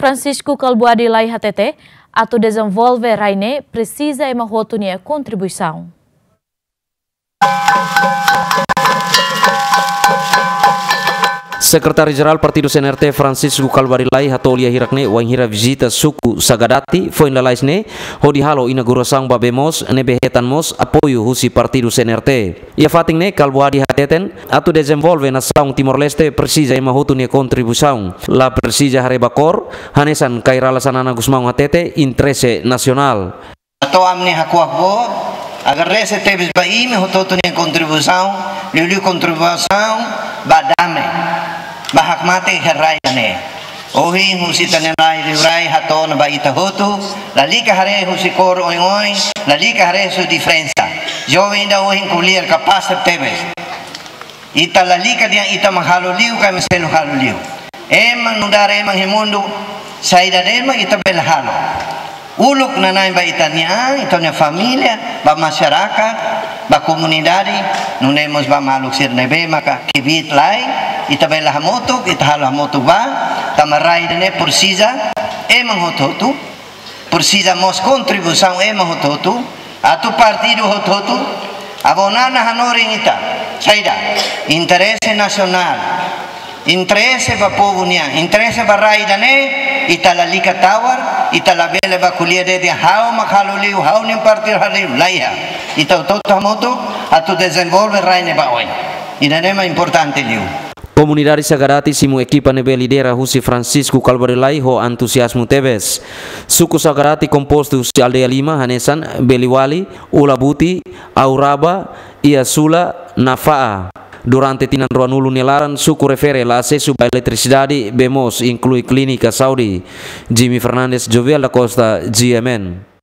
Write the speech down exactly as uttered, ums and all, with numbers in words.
Francisco Kalbuadi Lay hatete, atu dezenvolve rai ne'e presiza ema hotu nia kontribuisaun. Sekretáriu Jerál Partidu C N R T Francisco Kalbuadi Lay hato'o lia hirak ne'e wainhira vizita suku Sagadati foin lalais ne'e, hodi halo inaugurasaun ba bee moos ne'ebé hetan mós apoiu husi Partidu C N R T. Iha fatin ne'e Kalbuadi hateten, atu dezenvolve nasaun Timor-Leste presiza ema hotu nia kontribuisaun, la presiza haree ba kór, hanesan Kay Rala Xanana Gusmão hatete, interese nasionál. Entaun ami-nia hakuak boot, agradese tebes ba imi hotu-hotu nia kontribuisaun, liuliu kontribuisaun ba dame, ba hakmatek iha rai ida-ne'e. Ohin husi ita-nia rai liurai hato'o ona ba ita hotu, lalika haree husi kór oioin, lalika haree husi diferensa. Joven ida ohin ko'alia kapás tebes. Ita lalika dehan ita mak halo liu ka ema seluk halo liu. Ema nu'udar ema iha mundu, saida de'it mak ita bele halo. Uluk nanain ba ita-nia an, ita-nia família, ba masyarakat, ba komunidade, nune'e mós ba maluk sira ne'ebé maka kbiit lai, ita bele hamutuk, ita halo hamutuk ba, tanba rai ida-ne'e presiza ema hotu-hotu, presiza mós kontribuisaun ema hotu-hotu, atu partidu hotu-hotu, abo nana hanorin ita, saida, interese nasionál, interese ba povu nian, interese ba rai ida-ne'e, ita lalika tawar, ita labele bá ko'alia dehan ha'u mak halo liu, ha'u-nia partidu halo liu, laiha. Ita hotu-hotu hamutuk, atu dezenvolve rai ne'e ba oin. Ida-ne'e mak importante liu. Komunidade Sagadati simu ekipa ne'ebé lidera husi Francisco Kalbuadi Lay ho entuziazmu tebes. Suku Sagadati kompostu husi aldeia lima hanesan Beliwali, Ulabuti, Auraba, Iasula, Nafa'a. Durante tinan ruanulu nia laran, suku refere la asesu ba eletrisidade, bee moos, inklui klínika saúde. Jimmy Fernandes, Jovial da Costa, G M N.